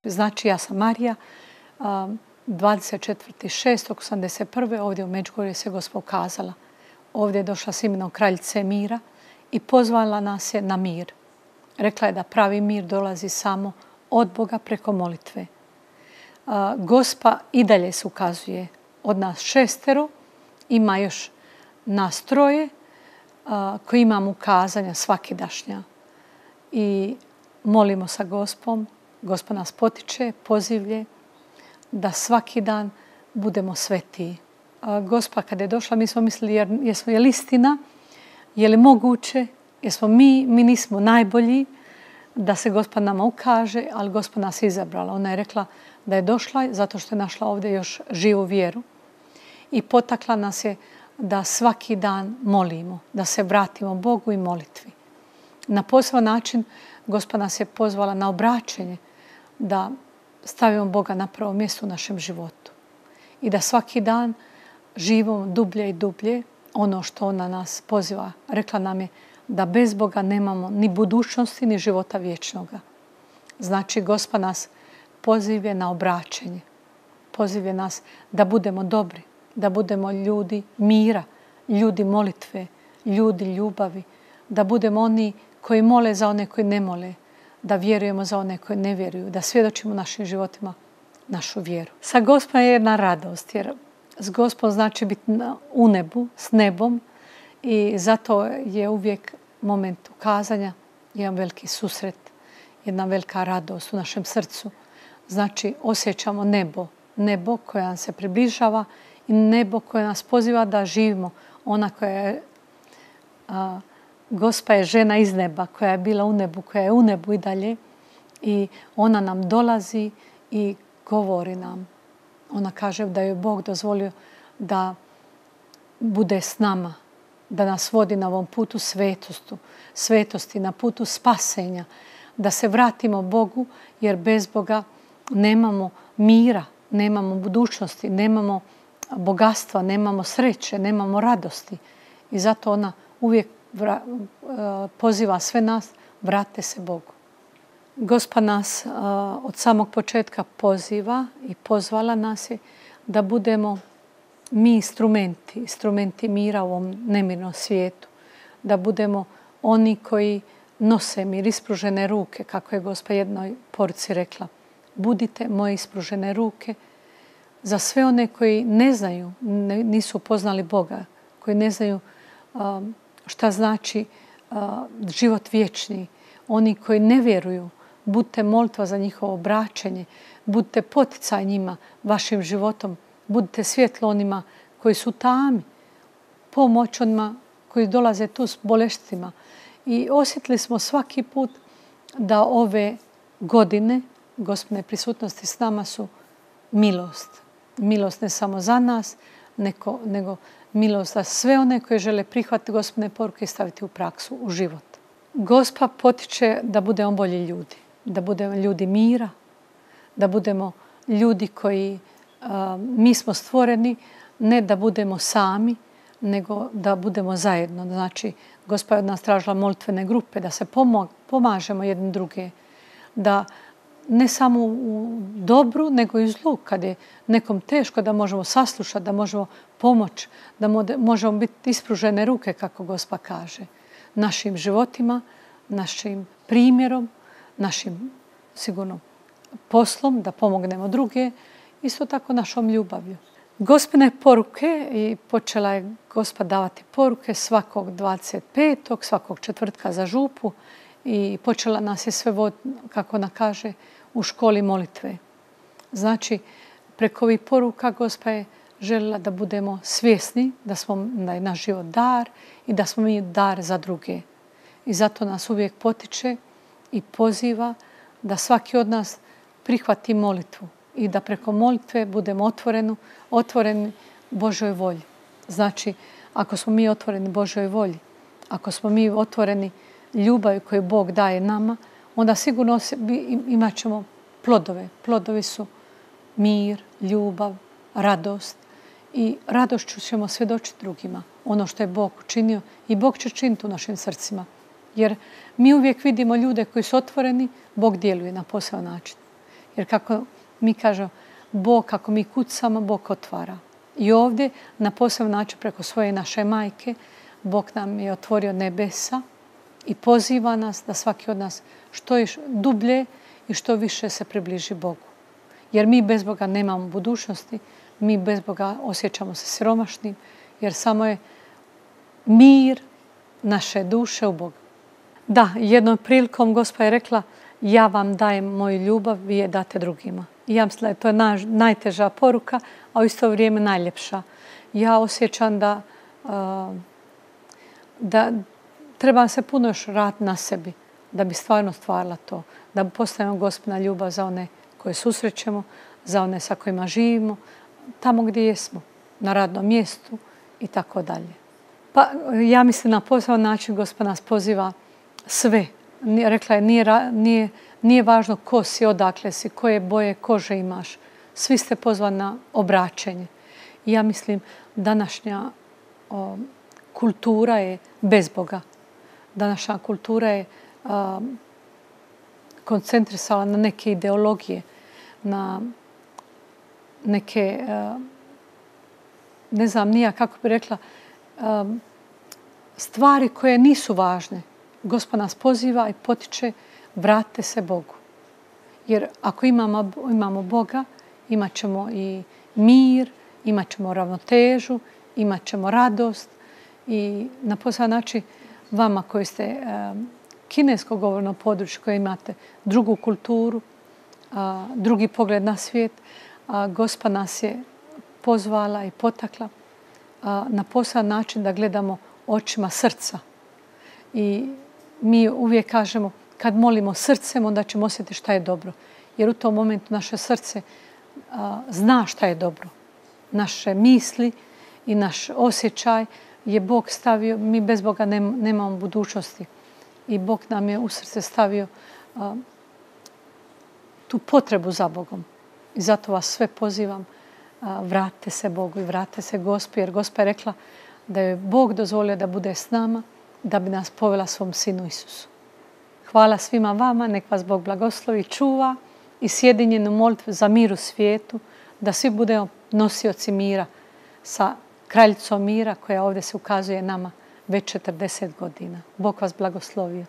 Znači, ja sam Marija, 24.6.81. ovdje u Međugorju se Gospod ukazala. Ovdje je došla s imenom kraljice mira i pozvala nas je na mir. Rekla je da pravi mir dolazi samo od Boga preko molitve. Gospa i dalje se ukazuje. Od nas 6, ima još nas 3 koji imamo ukazanja svakidašnja. I molimo sa Gospom. Gospod nas potiče, pozivlje da svaki dan budemo svetiji. Gospa kad je došla, mi smo mislili je li istina, je li moguće, jesmo mi nismo najbolji da se Gospod nama ukaže, ali Gospod nas je izabrala. Ona je rekla da je došla zato što je našla ovdje još živu vjeru i potakla nas je da svaki dan molimo, da se vratimo Bogu i molitvi. Na poseban način Gospod nas je pozvala na obraćenje, da stavimo Boga na prvo mjesto u našem životu i da svaki dan živimo dublje i dublje ono što ona nas poziva. Rekla nam je da bez Boga nemamo ni budućnosti ni života vječnoga. Znači, Gospod nas pozivje na obraćenje. Pozivje nas da budemo dobri, da budemo ljudi mira, ljudi molitve, ljudi ljubavi, da budemo oni koji mole za one koji ne mole, da vjerujemo za one koji ne vjeruju, da svjedočimo našim životima našu vjeru. Sa Gospom je jedna radost, jer s Gospom znači biti u nebu, s nebom i zato je uvijek moment ukazanja, jedan veliki susret, jedna velika radost u našem srcu. Znači osjećamo nebo koje nam se približava i nebo koje nas poziva da živimo. Ona koja je, Gospa je žena iz neba, koja je bila u nebu, koja je u nebu i dalje i ona nam dolazi i govori nam. Ona kaže da je Bog dozvolio da bude s nama, da nas vodi na ovom putu svetosti, na putu spasenja, da se vratimo Bogu, jer bez Boga nemamo mira, nemamo budućnosti, nemamo bogatstva, nemamo sreće, nemamo radosti. I zato ona uvijek poziva sve nas, vrate se Bogu. Gospa nas od samog početka poziva i pozvala nas je da budemo mi instrumenti mira u ovom nemirnom svijetu. Da budemo oni koji nose mir, ispružene ruke, kako je Gospa jednoj poruci rekla. Budite moje ispružene ruke za sve one koji ne znaju, nisu poznali Boga, koji ne znaju šta znači život vječni, oni koji ne vjeruju. Budite molitva za njihovo obraćenje, budite poticaj njima vašim životom, budite svjetlo onima koji su tami, pomoć onima koji dolaze tu s boleštima. I osjetili smo svaki put da ove godine Gospine prisutnosti s nama su milost. Milost ne samo za nas, nego milost za sve one koji žele prihvatiti Gospine poruke i staviti u praksu, u život. Gospa potiče da budemo bolji ljudi, da budemo ljudi mira, da budemo ljudi koji mi smo stvoreni, ne da budemo sami, nego da budemo zajedno. Znači, Gospa je od nas tražila molitvene grupe, da se pomažemo jedni druge, da ne samo u dobru, nego i u zlu. Kad je nekom teško, da možemo saslušati, da možemo pomoći, da možemo biti ispružene ruke, kako Gospa kaže. Našim životima, našim primjerom, našim sigurno poslom, da pomognemo druge, isto tako našom ljubavlju. Gospine poruke, i počela je Gospa davati poruke svakog 25. svakog četvrtka za župu i počela nas je sve voditi, kako ona kaže, u školi molitve. Znači, preko ovih poruka Gospa je željela da budemo svjesni da je naš život dar i da smo mi dar za druge. I zato nas uvijek potiče i poziva da svaki od nas prihvati molitvu i da preko molitve budemo otvoreni Božoj volji. Znači, ako smo mi otvoreni Božoj volji, ako smo mi otvoreni ljubavi koju Bog daje nama, onda sigurno imat ćemo plodove. Plodovi su mir, ljubav, radost i radošću ćemo svjedočiti drugima. Ono što je Bog učinio i Bog će činiti u našim srcima. Jer mi uvijek vidimo ljude koji su otvoreni, Bog djeluje na poseban način. Jer kako mi kažemo, Bog, kako mi kucamo, Bog otvara. I ovdje, na poseban način, preko svoje naše majke, Bog nam je otvorio nebesa i poziva nas da svaki od nas što je dublje i što više se približi Bogu. Jer mi bez Boga nemamo budućnosti, mi bez Boga osjećamo se siromašnim, jer samo je mir naše duše u Bogu. Da, jednom prilikom Gospa je rekla, ja vam dajem moju ljubav, vi je date drugima. I ja mislim da je to najteža poruka, a u isto vrijeme najljepša. Ja osjećam da treba se puno još raditi na sebi, da bi stvarno stvarila to. Da postavimo Gospina ljubav za one koje susrećemo, za one sa kojima živimo, tamo gdje jesmo, na radnom mjestu i tako dalje. Pa ja mislim na poseban način Gospod nas poziva sve. Rekla je, nije važno ko si, odakle si, koje boje kože imaš. Svi ste pozvani na obraćenje. I ja mislim današnja kultura je bez Boga. Današnja kultura je koncentrisala na neke ideologije, na neke, ne znam nija kako bi rekla, stvari koje nisu važne. Gospod nas poziva i potiče, vratite se Bogu. Jer ako imamo Boga, imat ćemo i mir, imat ćemo ravnotežu, imat ćemo radost i na poseban način vama koji ste kinesko govorno područje, koje imate drugu kulturu, drugi pogled na svijet, Gospa nas je pozvala i potakla na poseban način da gledamo očima srca. I mi uvijek kažemo, kad molimo srcem, onda ćemo osjetiti šta je dobro. Jer u tom momentu naše srce zna šta je dobro. Naše misli i naš osjećaj je Bog stavio, mi bez Boga nemamo budućnosti. I Bog nam je u srce stavio tu potrebu za Bogom. I zato vas sve pozivam, vratite se Bogu i vratite se Gospi, jer Gospa je rekla da je Bog dozvolio da bude s nama, da bi nas povela svom Sinu Isusu. Hvala svima vama, nek vas Bog blagoslovi, čuva i sjedinjenu molitvu za mir u svijetu, da svi budemo nosioci mira sa kraljicom mira koja ovdje se ukazuje nama već 40 godina. Bog vas blagoslovio.